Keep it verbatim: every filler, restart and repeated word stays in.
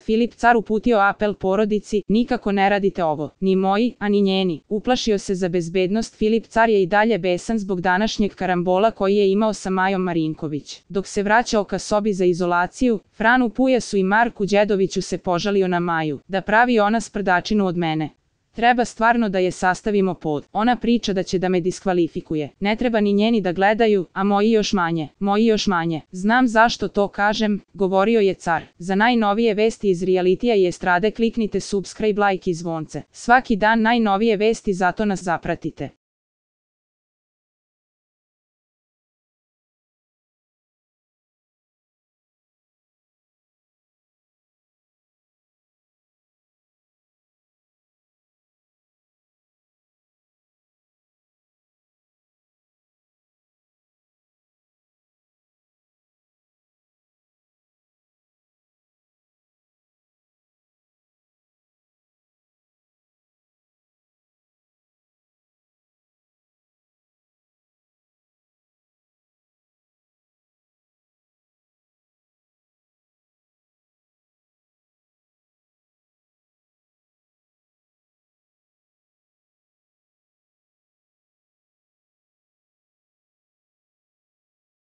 Filip car uputio apel porodici, nikako ne radite ovo, ni moji, a ni njeni. Uplašio se za bezbednost, Filip car je i dalje besan zbog današnjeg karambola koji je imao sa Majom Marinković. Dok se vraćao ka sobi za izolaciju, Franu Pujasu i Marku Đedoviću se požalio na Maju, da pravi ona sprdačinu od mene. Treba stvarno da je sastavimo pod. Ona priča da će da me diskvalifikuje. Ne treba ni njeni da gledaju, a moji još manje. Moji još manje. Znam zašto to kažem, govorio je car. Za najnovije vesti iz realitija i estrade kliknite subscribe, like i zvonce. Svaki dan najnovije vesti, zato nas zapratite.